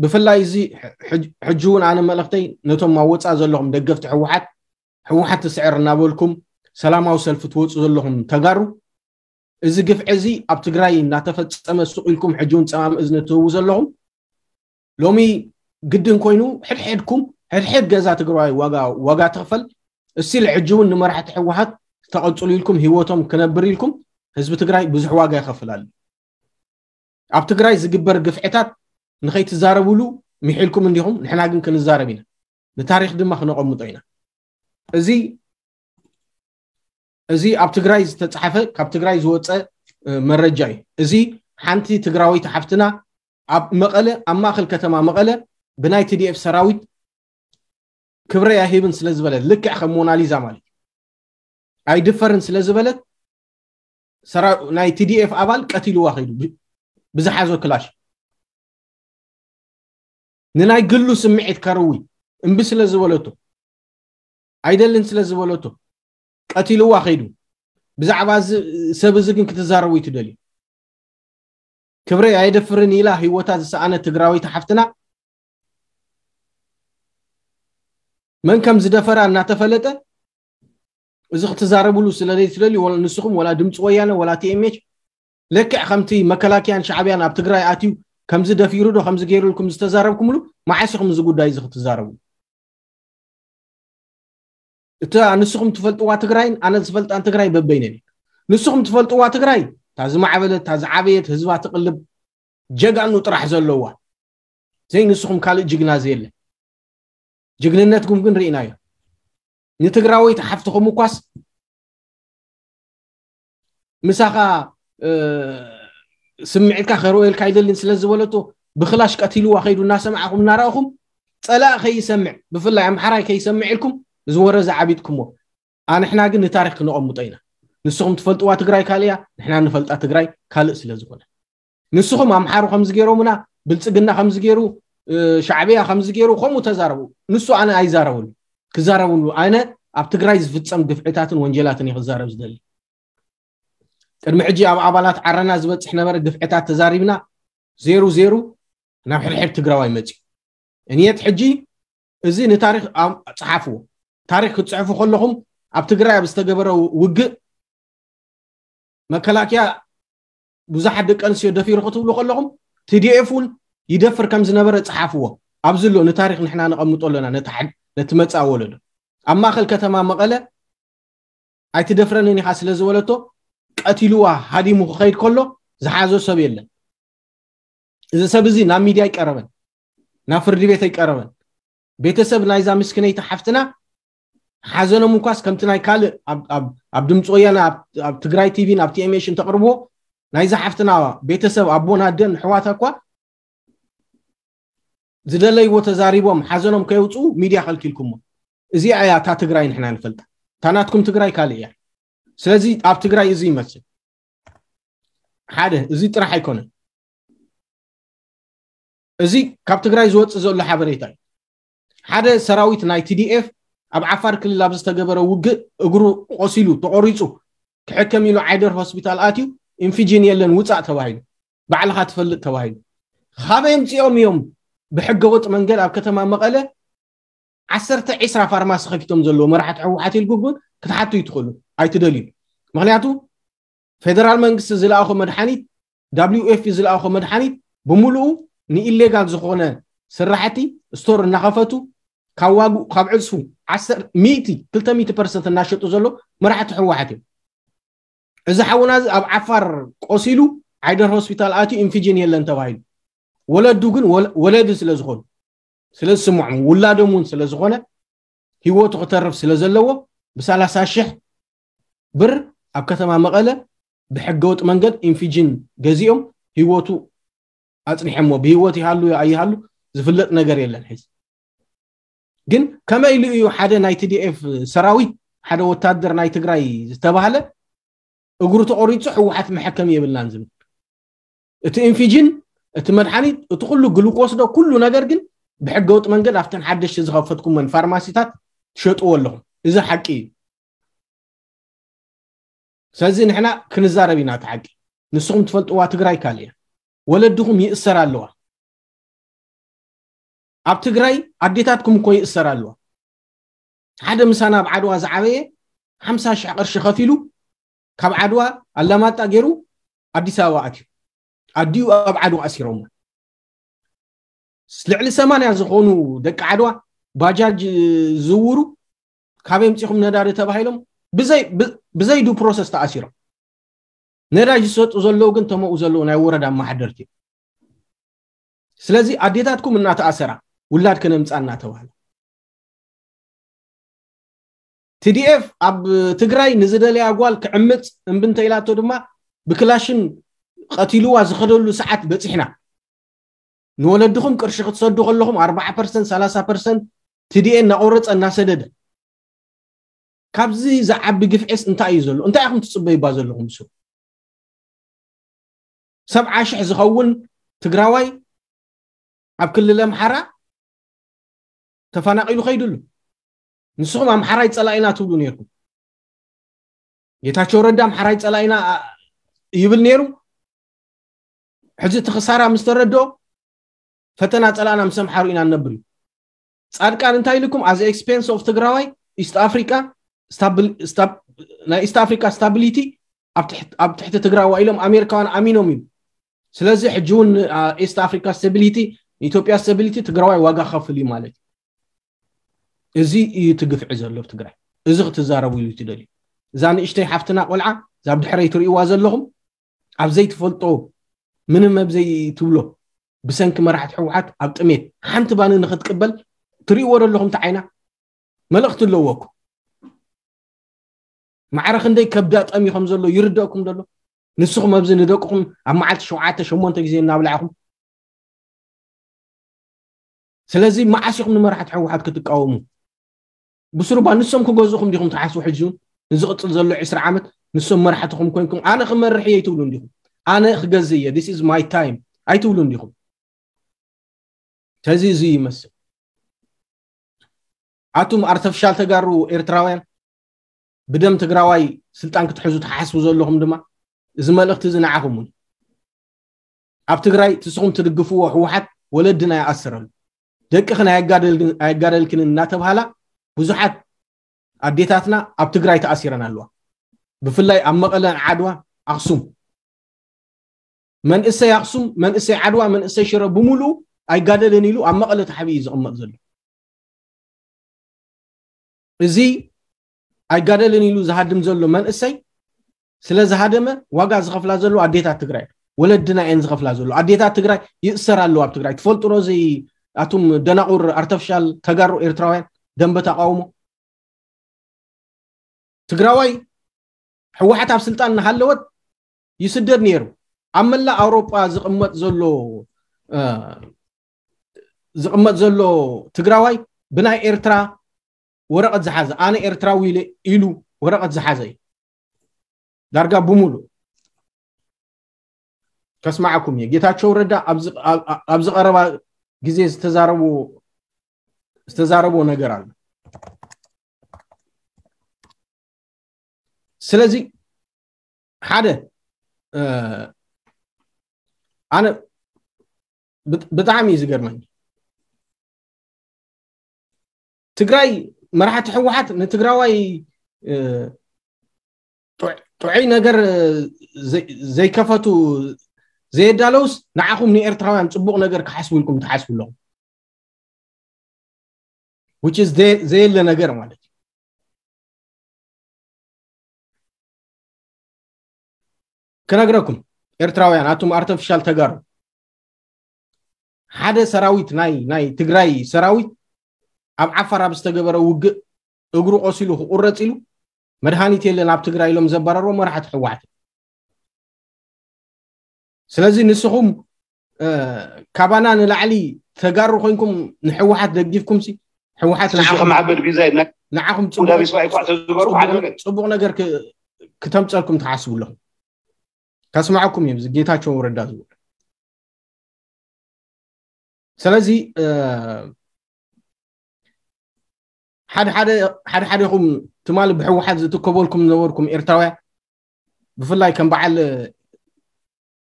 ብፍላይ እዚ ሕጂ እውን ኣነ መልእኽተይ ነቶም ኣብ ወፃእ ዘለኹም ደገፍቲ ህወሓት፣ ህወሓት ትስዕር እናበልኩም ሰላማዊ ሰልፊ ትወፁ ዘለኹም ተጋሩ፣ እዚ ግፍዒ እዚ ኣብ ትግራይ እናተፈፀመ ስቕ ኢልኩም ሕጂ እውን ፀማም እዝኒ ትህቡ ዘለኹም፣ ሎሚ ግድን ኮይኑ ሕድሕድኩም ሕድሕድ ገዛ ትግራዋይ ዋጋ ዋጋ ትኽፈል። እስቲል ሕጂ እውን ንመራሕቲ ህወሓት ተቐፅሉ ኢልኩም ህይወቶም ክነብር ኢልኩም ህዝቢ ትግራይ ብዙሕ ዋጋ ይኸፍል ኣሎ። ኣብ ትግራይ ዝግበር ግፍዕታት ንኸይትዛረብሉ ምሒልኩም እንዲኹም፣ ንሕና ግን ክንዛረብ ኢና፣ ንታሪክ ድማ ክነቐምጦ ኢና። እዚ እዚ ኣብ ትግራይ ዝተፃሓፈ ካብ ትግራይ ዝወፀ መረጃ እዩ። እዚ ሓንቲ ትግራወይቲ ሓፍትና ኣብ መቐለ ኣብ ማእኸል ከተማ መቐለ ብናይ ቲ ዲ ኤፍ ሰራዊት ክብረይ ኣይህብን ስለ ዝበለት፣ ልክዕ ከም ሞናሊዛ ማለት እዩ፣ ኣይድፈርን ስለ ዝበለት ናይ ቲ ዲ ኤፍ ኣባል ቀቲልዋ ከይዱ ብዝሓዞ ክላሽ። ንናይ ግሉ ስምዒት ከርዊ እምቢ ስለ ዝበለቶ፣ ኣይደልን ስለ ዝበለቶ ቀቲልዋ ከይዱ። ብዛዕባ እዚ ሰብ እዚ ግን ክትዛረቡ እዩ ትደልዩ። ክብረይ ኣየደፍርን ኢላ ህይወታ ዝሰኣነ ትግራወይቲ ሓፍትና መን ከም ዝደፈራ እናተፈለጠ እዚ ክትዛረብሉ ስለ ዘይትደልዩ፣ ንስኹም ወላ ድምፂ ወያነ ወላ ቲ ኤም ኤች ልክዕ ከምቲ መከላከያን ሻዕብያን ኣብ ትግራይ ኣትዩ ከምዚ ደፊሩ ዶ ከምዚ ገይሩልኩም ዝተዛረብኩምሉ፣ መዓስ ኢኹም እዚ ጉዳይ እዚ ክትዛረቡ? እታ ንስኹም ትፈልጥዋ ትግራይን ኣነ ዝፈልጣን ትግራይ በበይነን እዩ። ንስኹም ትፈልጥዋ ትግራይ እታ ዝማዕበለት፣ እታ ዝዓበየት፣ ህዝባ ትቕልብ፣ ጀጋኑ ጥራሕ ዘለዋ፣ ዘይ ንስኹም ካልእ ጅግና ዘየለ። ጅግንነትኩም ግን ርኢናዮ። ንትግራወይቲ ሓፍትኹም እኳስ ምሳኻ ስምዒትካ ከርወየልካ ኣይደልን ስለ ዝበለቶ ብክላሽ ቀቲልዋ ከይዱ እናሰማዕኹም እናረእኹም፣ ፀላእ ከይሰምዕ፣ ብፍላይ ኣምሓራይ ከይሰምዕ ኢልኩም እዚ ወረ ዝዓቢጥኩሞ። ኣንሕና ግን ንታሪክ ክነቐምጦ ኢና። ንስኹም ትፈልጥዋ ትግራይ ካልእ እያ፣ ንሕና ንፈልጣ ትግራይ ካልእ ስለ ዝኾነ። ንስኹም ኣምሓሩ ከምዚ ገይሮምና፣ ብልፅግና ከምዚ ገይሩ፣ ሻዕብያ ከምዚ ገይሩ፣ ከምኡ ተዛረቡ። ንሱ ኣነ ኣይዛረብሉ፣ ክዛረብሉ። ኣነ ኣብ ትግራይ ዝፍፀም ግፍዕታትን ወንጀላትን እየ ክዛረብ ዝደሊ። ቅድሚ ሕጂ ኣብ ኣባላት ዓረና ዝበፅሕ ነበረ ግፍዕታት ተዛሪብና፣ ዜሩ ዜሩ ናብ ሕድሕድ ትግራዋይ መፅዩ። እንየት ሕጂ እዚ ንታሪክ ፃሓፍዎ። ታሪክ ክትፅሕፉ ከለኹም ኣብ ትግራይ ኣብ ዝተገበረ ውግእ መከላከያ ብዙሓት ደቂ ኣንስትዮ ደፊሩ ክትብሉ ከለኹም ቲ ዲ ኤፍ እውን ይደፍር ከም ዝነበረ ፃሓፍዎ። ኣብዚ ኣሎ ንታሪክ ንሕና ነቐምጦ ኣለና፣ ነቲ መፃእ ወለዶ። ኣብ ማእኸል ከተማ መቐለ ኣይትደፍረንን ኢኻ ስለ ዝበለቶ ቀቲልዋ ሃዲሙ ክኸይድ ከሎ ዝሓዞ ሰብ የለን። እዚ ሰብ እዚ ናብ ሚድያ ኣይቀረበን፣ ናብ ፍርዲ ቤት ኣይቀረበን። ቤተሰብ ናይዛ ምስክነይቲ ሓፍትና ሓዘኖም እንኳስ ከምቲ ናይ ካልእ ኣብ ድምፂ ወያነ ኣብ ትግራይ ቲቪን ኣብ ቲኤምኤሽን ተቕርብዎ ናይዛ ሓፍትና ቤተሰብ ኣቦን ኣደን ኣሕዋታ እኳ ዝደለይዎ ተዛሪቦም ሓዘኖም ከየውፅኡ ሚድያ ከልኪልኩሞ። እዚኣ እያ እታ ትግራይ ንሕና ንፈልጣ። እታ ናትኩም ትግራይ ካልእ እያ። ስለዚ ኣብ ትግራይ እዚ ይመስል ሓደ እዚ ጥራሕ ኣይኮነን። እዚ ካብ ትግራይ ዝወፅእ ዘሎ ሓበሬታ እዩ። ሓደ ሰራዊት ናይ ቲዲኤፍ ኣብ ዓፋር ክልል ኣብ ዝተገበረ ውግእ እግሩ ቆሲሉ ተቆሪፁ ክሕከም ኢሉ ዓይደር ሆስፒታል ኣትዩ ኢንፊጂን የለን ውፃእ ተባሂሉ፣ ባዕልኻ ትፈልጥ ተባሂሉ። ካበይ ኣምፂኦም እዮም ብሕገወጥ መንገድ ኣብ ከተማ መቐለ ዓሰርተ ዒስራ ፋርማሲ ከፊቶም ዘለዉ መራሕቲ ህወሓት ኢልኩም ክትሓቱ ይትኽእሉ ኣይትደልዩ። ምክንያቱ ፌደራል መንግስቲ ዝለኣኾ መድሓኒት፣ ደብሊው ኤፍ ፒ ዝለኣኾ መድሓኒት ብምሉኡ ንኢሌጋል ዝኾነ ስራሕቲ ስቶር እናኸፈቱ ካብ ዋግኡ ካብ ዕፅፉ ሚእቲ ክልተ ሚእቲ ፐርሰንት እናሸጡ ዘሎ መራሕቲ ህወሓት እዮም። እዚ ሓውና እዚ ኣብ ዓፋር ቆሲሉ ዓይደር ሆስፒታል ኣትዩ ኢንፊጅን የለን ተባሂሉ። ወለዱ ግን ወለዲ ስለ ዝኾኑ ስለ ዝስምዖም ውላዶም እውን ስለ ዝኾነ ህይወቱ ክተርፍ ስለ ዘለዎ ብሰላሳ ሽሕ ብር ኣብ ከተማ መቐለ ብሕገወጥ መንገድ ኢንፊጅን ገዚኦም ህይወቱ ኣፅኒሐሞ። ብህይወት ይሃሉ ኣይሃሉ ዝፍለጥ ነገር የለን። ሕዚ ግን ከመይ ኢሉ እዩ ሓደ ናይ ቲዲኤፍ ሰራዊት ሓደ ወታደር ናይ ትግራይ ዝተባህለ እግሩ ተቆሪፁ ህወሓት መሐከሚ የብልናን ዝብል? እቲ ኢንፊጅን እቲ መድሓኒት እቲ ኩሉ ግሉኮስ ዶ ኩሉ ነገር ግን ብሕገወጥ መንገድ ኣብተን ሓደሽቲ ዝኸፈትኩመን ፋርማሲታት ትሸጥዎ ኣለኹም። እዚ ሓቂ እዩ። ስለዚ ንሕና ክንዛረብ ኢና እቲ ሓቂ። ንስኹም ትፈልጥዋ ትግራይ ካልእ እያ። ወለድኹም ይእሰር ኣለዋ። ኣብ ትግራይ ኣዴታትኩም እኮ ይእሰር ኣለዋ። ሓደ ምሳና ኣብ ዓድዋ ዝዓበየ ሓምሳ ሺሕ ቅርሺ ከፊሉ ካብ ዓድዋ ኣላማጣ ገይሩ ኣዲስ ኣበባ ኣትዩ። ኣዲኡ ኣብ ዓድዋ ኣሲሮሞ። ልዕሊ ሰማንያ ዝኾኑ ደቂ ዓድዋ ባጃጅ ዝውሩ ካበይ ኣምፂኹም ነዳዲ ተባሂሎም ብዘይ ብ- ብዘይ ዱ ፕሮሰስ ተኣሲሮም። ነዳጅ ዝሰጡ ዘለዉ ግን ተመኡ ዘለዉ ናይ ወረዳ ኣመሓደርቲ እዮም። ስለዚ ኣዴታትኩም እናተኣሰራ ውላድ ከነምፃ እናተባህለ፣ ቲዲኤፍ ኣብ ትግራይ ንዝደለያ ጓል ክዕምፅ እምቢ እንተ ኢላቶ ድማ ብክላሽን ቀቲልዋ ዝኸደሉ ሰዓት በፂሕና። ንወለድኹም ቅርሺ ክትሰዱ ከለኹም ኣርባዓ ፐርሰንት ሰላሳ ፐርሰንት ቲዲኤ እናቆረፀ እናሰደደ፣ ካብዚ ዝዓቢ ግፍዒስ እንታይ እዩ ዘሎ? እንታይ ኢኹም ትፅበዩባ ዘለኹም? ንሱ ሰብዓ ሽሕ ዝኸውን ትግራዋይ ኣብ ክልል ኣምሓራ ተፈናቒሉ ከይዱ ኣሎ። ንስኹም ኣምሓራይ ፀላኢና ትብሉ ነይርኩም። ጌታቸው ረዳ ኣምሓራይ ፀላኢና ይብል ነይሩ። ሕዚ እቲ ክሳራ ምስ ተረድኦ ፈተና ፀላእና ምስ ኣምሓሩ ኢና ንነብር እዩ። ጻድቃን እንታይ ኢልኩም? As expense of ትግራዋይ ኢስት ኣፍሪካ ናይ ኢስት ኣፍሪካ ስታቢሊቲ ኣብ ትሕቲ ትግራዋ ኢሎም ኣሜሪካውያን ኣሚኖም እዩ። ስለዚ ሕጂ እውን ኢስት ኣፍሪካ ስታቢሊቲ፣ ኢትዮጵያ ስታቢሊቲ ትግራዋይ ዋጋ ከፍል እዩ ማለት እዩ። እዚ እዩ ትግፍዒ ዘሎ ኣብ ትግራይ። እዚ ክትዛረቡ እዩ ትደልዩ። እዛ ንእሽተይ ሓፍትና ቆልዓ እዛ ብድሕረይ ትርእይዋ ዘለኹም ኣብ ዘይትፈልጦ ምንም ኣብ ዘይትብሎ ብሰንኪ መራሕቲ ሕወሓት ኣብ ጥሜት ሓንቲ ባኒ ንክትቅበል ትርእይዎ ዘለኹም እቲ ዓይና መልእኽቲ ኣለዎ እኮ። ማዕረ ክንደይ ከብዳ ጠሚ ከም ዘሎ ይርደእኩም ዘሎ። ንስኹም ኣብዚ ንደቅኹም ኣብ መዓልቲ ሸውዓተ ሸሞንተ ግዜ እናብላዕኹም ስለዚ መዓስ ኢኹም ንመራሕቲ ሕወሓት ክትቃወሙ? ብስሩባ ንሶም ክገዝኡኹም ዲኹም ትሓስቡ? ሕጂ እውን ንዝቕፅል ዘሎ ዕስራ ዓመት ንሶም መራሕትኹም ኮይንኩም ኣነ ክመርሕ እየ ይትብሉ እንዲኹም? ኣነ ክገዝእ እየ፣ this is my time ኣይትብሉ እንዲኹም? ስለዚ እዚ ይመስል ኣቱም ኣርተፍሻል ተጋሩ ኤርትራውያን ብደም ትግራዋይ ስልጣን ክትሕዙ ትሓስቡ ዘለኹም ድማ እዚ መልእኽቲ እዚ ንዓኹም እውን ኣብ ትግራይ ትስኹም ትድግፍዎ ህወሓት ወለድና ይኣስረሉ ደቅኽን ኣየጋደልክን እናተብሃላ ብዙሓት ኣዴታትና ኣብ ትግራይ ተኣሲረን ኣለዋ። ብፍላይ ኣብ መቐለን ዓድዋ ኣክሱም መንእሰይ ኣክሱም መንእሰይ ዓድዋ መንእሰይ ሽረ ብምሉኡ ኣይጋደልን ኢሉ ኣብ መቐለ ተሓቢኡ እዩ ዝቕመጥ ዘሎ። እዚ ኣይጋደልን ኢሉ ዝሃድም ዘሎ መንእሰይ ስለ ዝሃደመ ዋጋ ዝኸፍላ ዘሎ ኣዴታት ትግራይ ወለድና እየን ዝኸፍላ ዘሎ። ኣዴታት ትግራይ ይእሰር ኣለዋ ኣብ ትግራይ ትፈልጡ ዶ? እዚ ኣቱም ደናቑር ኣርተፍሻል ተጋሩ ኤርትራውያን ደንበ ተቃውሞ ትግራዋይ ህወሓት ኣብ ስልጣን እናሃለወት ይስደድ ነይሩ። ኣብ መላእ ኣውሮጳ ዝቕመጥ ዘሎ ዝቕመጥ ዘሎ ትግራዋይ ብናይ ኤርትራ ወረቐት ዝሓዘ ኣነ ኤርትራዊ ኢለ ኢሉ ወረቐት ዝሓዘ እዩ። ዳርጋ ብምሉእ ከስማዓኩም እየ። ጌታቸው ረዳ ኣብዚ ቀረባ ግዜ ዝተዛረቦ ነገር ኣሎ። ስለዚ ሓደ ኣነ ብጣዕሚ እዩ ዝገርመኒ። ትግራይ መራሕቲ ህወሓት ንትግራዋይ ጥዑይ ነገር ዘይከፈቱ ዘየዳለውስ ንዓኹም ንኤርትራውያን ፅቡቕ ነገር ክሓስቡ ኢልኩም ትሓስቡ ኣለኹም። Which is ዘየለ ነገር ማለት እዩ። ክነግረኩም ኤርትራውያን ኣቱም ኣርተፊሻል ተጋሩ ሓደ ሰራዊት ናይ ናይ ትግራይ ሰራዊት ኣብ ዓፋር ኣብ ዝተገበረ ውግእ እግሩ ቆሲሉ ክቁረፅ ኢሉ መድሃኒት የለን ኣብ ትግራይ ኢሎም ዘባረርዎ መራሕቲ ህወሓት። ስለዚ ንስኹም ካባና ንላዕሊ ተጋሩ ኮይንኩም ንሕወሓት ደጊፍኩም ሲ ሕወሓት ንስኹም መሓመድ ቢዛይ ንዓኹም ጽቡቕ ነገር ክተምፀልኩም ትሓስቡ ኣለኹም። ከስማዕኩም እዮም ጌታቸው ረዳ ዝብል። ስለዚ ሓደ ሓደ ኹም ትማሊ ብሕወሓት ዝትከበልኩም ዝነበርኩም ኤርትራውያን ብፍላይ ከም በዓል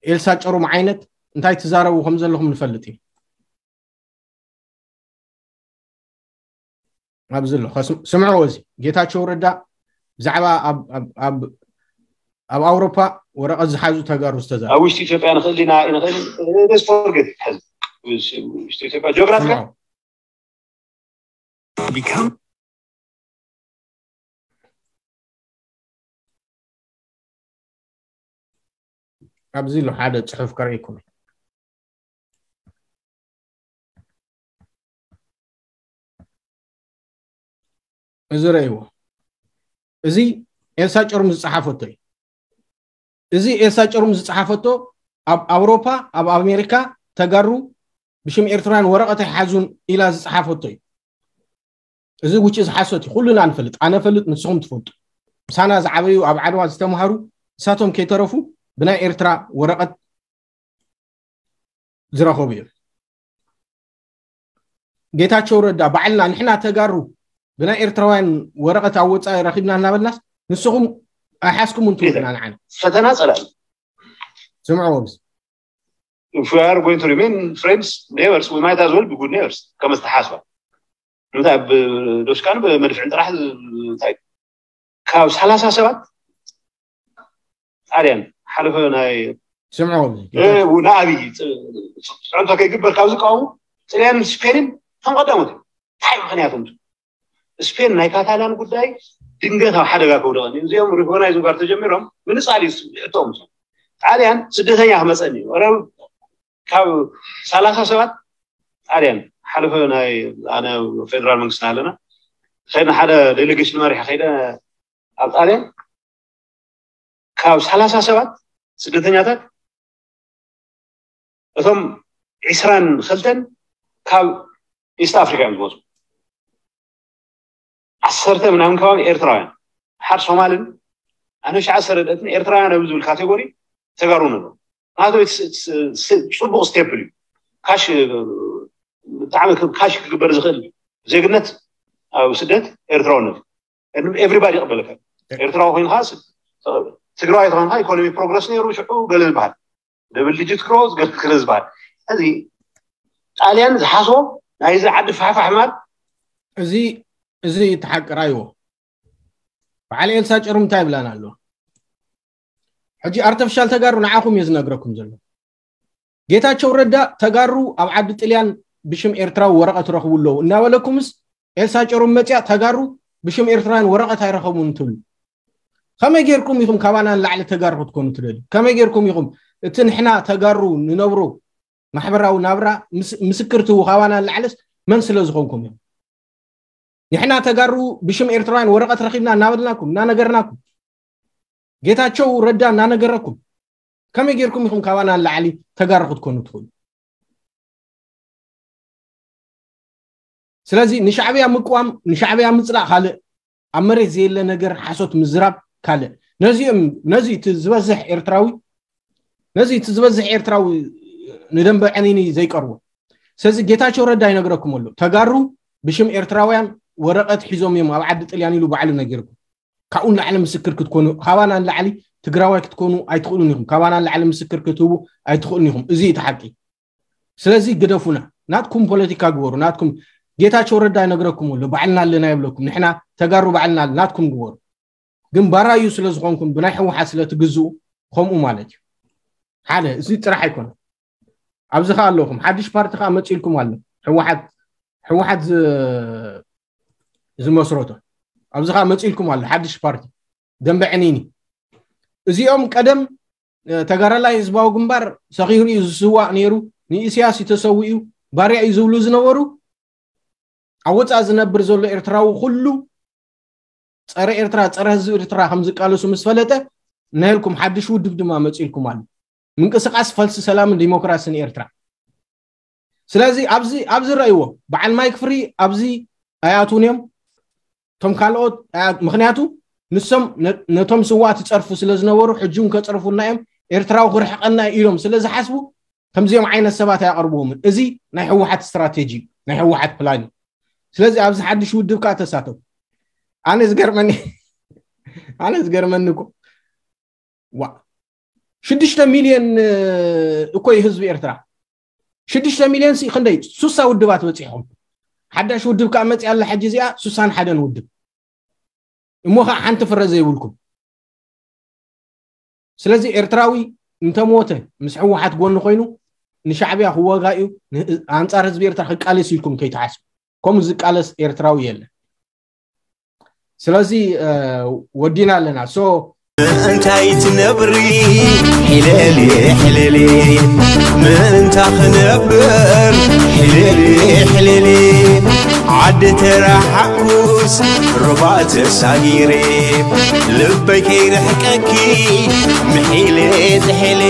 ኤልሳ ጨሩም ዓይነት እንታይ ትዛረቡ ከም ዘለኹም ንፈልጥ እዩ። ኣብዚ ኣሎ ከስም- ስምዕዎ፣ እዚ ጌታቸው ረዳ ብዛዕባ ኣብ ኣብ ኣብ ኣብ ኣውሮፓ ወረቐት ዝሓዙ ተጋሩ ዝተዛረቡ። ኣብ ውሽጢ ኢትዮጵያ ንኽእል ኢና ንኽእል ደስ ፎርጌት ሐዚ ውሽጢ ኢትዮጵያ ጂኦግራፊ ስምዕዎ። Become ኣብዚ ኣሎ ሓደ ፅሑፍ ከርእየኩም። እዚ ረእይዎ። እዚ ኤልሳ ጨርሙ ዝፀሓፈቶ እዩ። እዚ ኤልሳ ጨርሙ ዝፀሓፈቶ ኣብ ኣውሮፓ ኣብ ኣሜሪካ ተጋሩ ብሽም ኤርትራውያን ወረቐት ኣይሓዙን ኢላ ዝፀሓፈቶ እዩ። እዚ ውጭ ዝሓሶት እዩ። ኩሉና ንፈልጥ፣ ኣነ ፈልጥ፣ ንስኹም ትፈልጡ። ምሳና ዝዓበዩ ኣብ ዓድዋ ዝተምሃሩ ንሳቶም ከይተረፉ ብናይ ኤርትራ ወረቐት ዝረኸቡ እዮም። ጌታቸው ረዳ ባዕልና ንሕና ተጋሩ ብናይ ኤርትራውያን ወረቐት ኣብ ወፃኢ ረኺብና እናበልናስ ንስኹም ኣይሓዝኩም እንትብሉና ንዓና ፈተና ጸላኢ ስምዕዎ። if we are going to remain friends, neighbors, we might as well be good neighbors. ከም ዝተሓስባ እንታይ ብዶሽካን ብመድፍዕን ጥራሕ እንታይ ካብ ሰላሳ ሰባት ጣልያን ሓለፈ ናይ ስምዕዎ። ንኣብይ ፅዕንቶ ከይግበር ካብ ዝቃወሙ ጥልያን ስፔንን ከም ቀዳሞት እንታይ ምክንያት ስፔን ናይ ካታላን ጉዳይ ድንገት ኣብ ሓደጋ ከውደቐኒ እዚኦም ሪኮግናይዝ ጋር ተጀሚሮም ምንፃል እዩ ሕቶም ጣልያን ስደተኛ ክመፀኒ እዩ ካብ ሰላሳ ሰባት ጣልያን ሓለፈ ናይ ኣነ ፌደራል መንግስቲ ኣለና ከይድና ሓደ ዴሌጌሽን መሪሐ ከይደ ኣብ ጣልያን ካብ ሰላሳ ሰባት ስደተኛታት እቶም ዕስራን ክልተን ካብ ኢስት ኣፍሪካ እዮም ዝመፁ ዓሰርተ ምናምን ከባቢ ኤርትራውያን ሓድ ሶማልን ኣነ ሸዓ ሰረደትን ኤርትራውያን ኣብ ዝብል ካቴጎሪ ተጋሩ ነሎ ናቶ ጽቡቅ ስቴፕ እዩ ካሽ ብጣዕሚ ካሽ ክግበር ዝኽእል ዜግነት ኣብ ስደት ኤርትራውነት ኤቭሪባዲ ይቕበለካ ኤርትራዊ ኮይንካ ትግራዋይ ተኮንካ ኢኮኖሚ ፕሮግረስ ነይሩ ሽዑ ገለ ዝበሃል ደብል ዲጂት ግሮዝ ገለ ዝበሃል እዚ ጣልያን ዝሓስቦ ናይዚ ዓዲ ፋሕፋሕ ማል እዚ እዚ ተሓቅራይዎ በዓል ኤልሳ ጨሩ እንታይ ይብላን ኣሎ ሕጂ ኣርተፊሻል ተጋሩ ንዓኹም እየ ዝነግረኩም ዘሎ ጌታቸው ረዳ ተጋሩ ኣብ ዓዲ ጥልያን ብሽም ኤርትራዊ ወረቐት ረኽቡ ኣለዉ እናበለኩምስ ኤልሳ ጨሩ መፅያ ተጋሩ ብሽም ኤርትራውያን ወረቐት ኣይረኸቡን ትብሉ ከመይ ጌርኩም ኢኹም ካባና ንላዕሊ ተጋሩ ክትኮኑ ትደልዩ ከመይ ጌርኩም ኢኹም እቲ ንሕና ተጋሩ ንነብሩ ማሕበራዊ ናብራ ምስክር ትህቡ ካባና ንላዕልስ መን ስለ ዝኾንኩም ኢኹም ንሕና ተጋሩ ብሽም ኤርትራውያን ወረቐት ረኺብና እናበልናኩም እናነገርናኩም ጌታቸው ረዳ እናነገረኩም ከመይ ጌርኩም ኢኹም ካባና ንላዕሊ ተጋሩ ክትኮኑ ትኽእሉ ስለዚ ንሻዕብያ ምቅዋም ንሻዕብያ ምፅላእ ካልእ ኣብ መሬት ዘየለ ነገር ሓሶት ምዝራብ ካልእ ነዚኦም ነዚ እቲ ዝበዝሕ ኤርትራዊ ነዚ እቲ ዝበዝሕ ኤርትራዊ ንደንበ ዕኒኒ ዘይቀርቦ ስለዚ ጌታቸው ረዳ ይነግረኩም ኣሎ ተጋሩ ብሽም ኤርትራውያን ወረቐት ሒዞም እዮም ኣብ ዓዲ ጥልያን ኢሉ ባዕሉ ነጊርኩም ካብኡ ንላዕሊ ምስክር ክትኮኑ ካባና ንላዕሊ ትግራዋይ ክትኮኑ ኣይትኽእሉን ኢኹም ካባና ንላዕሊ ምስክር ክትህቡ ኣይትኽእሉን ኢኹም እዚ እቲ ሓቂ ስለዚ ግደፉና ናትኩም ፖለቲካ ግበሩ ናትኩም ጌታቸው ረዳ ይነግረኩም ኣሎ ባዕልና ኣለና ይብለኩም ንሕና ተጋሩ ባዕልና ናትኩም ግበሩ ግን ባራዩ ስለ ዝኾንኩም ብናይ ህወሓት ስለ ትግዝኡ ከምኡ ማለት እዩ ሓደ እዚ ጥራሕ ኣይኮነ ኣብዚ ከዓ ኣለኹም ሓድሽ ፓርቲ ከዓ መፂልኩም ኣሎ ህወሓት ህወሓት ዝመስረቶ ኣብዚ ከዓ መፂልኩም ኣሎ ሓድሽ ፓርቲ ደንበ ዕኒኒ እዚኦም ቀደም ተጋዳላይ ህዝባዊ ግንባር ሰኺሩ እዩ ዝስዋእ ነይሩ ንኢስያስ እዩ ተሰዊኡ ባርያ እዩ ዝብሉ ዝነበሩ ኣብ ወፃእ ዝነብር ዘሎ ኤርትራዊ ኩሉ ፀረ ኤርትራ ፀረ ህዝቢ ኤርትራ ከም ዝቃለሱ ምስ ፈለጠ ናይልኩም ሓድሽ ውድብ ድማ መፂልኩም ኣሎ ምንቅስቃስ ፈልሲ ሰላምን ዲሞክራሲን ኤርትራ ስለዚ ኣብዚ ኣብዚ ረእይዎ በዓል ማይክ ፍሪ ኣብዚ ኣይኣትውን እዮም እቶም ካልኦት ምክንያቱ ንሶም ነቶም ስዋእቲ ፀርፉ ስለ ዝነበሩ ሕጂ እውን ከፀርፉና እዮም ኤርትራዊ ክርሕቀና ኢሎም ስለ ዝሓስቡ ከምዚኦም ዓይነት ሰባት ኣይኣቅርብዎምን እዚ ናይ ህወሓት ስትራቴጂ ናይ ህወሓት ፕላን እዩ ስለዚ ኣብዚ ሓድሽ ውድብ ከዓ ተሳተፉ ኣነ ዝገርመኒ ኣነ ዝገርመኒ እኮ ዋ ሽዱሽተ ሚልዮን እኮ እዩ ህዝቢ ኤርትራ ሽዱሽተ ሚልዮን ሲ ክንደይ ሱሳ ውድባት በፂሕኹም ሓዳሽ ውድብ ከዓ መፅያ ኣላ ሕጂ እዚኣ ሱሳን ሓደን ውድብ እሞ ከዓ ሓንቲ ፍረ ዘይብልኩም። ስለዚ ኤርትራዊ እንተሞተ ምስ ሕወሓት ጎኒ ኮይኑ ንሻዕብያ ክወጋ እዩ፣ ኣንፃር ህዝቢ ኤርትራ ክቃለስ ኢልኩም ከይትሓስቡ። ከምኡ ዝቃለስ ኤርትራዊ የለን። ስለዚ ወዲና ኣለና። ሶ ምእንታይ ትነብሪ ሕልሊ ሕልሊ ምእንታ ክነብር ሕልሊ ሕልሊ ዓዲ ተረሓኩስ ሩባ ተሳጊሬ ልበይ ከይርሕቀኪ ምሒሌ ጥሒሌ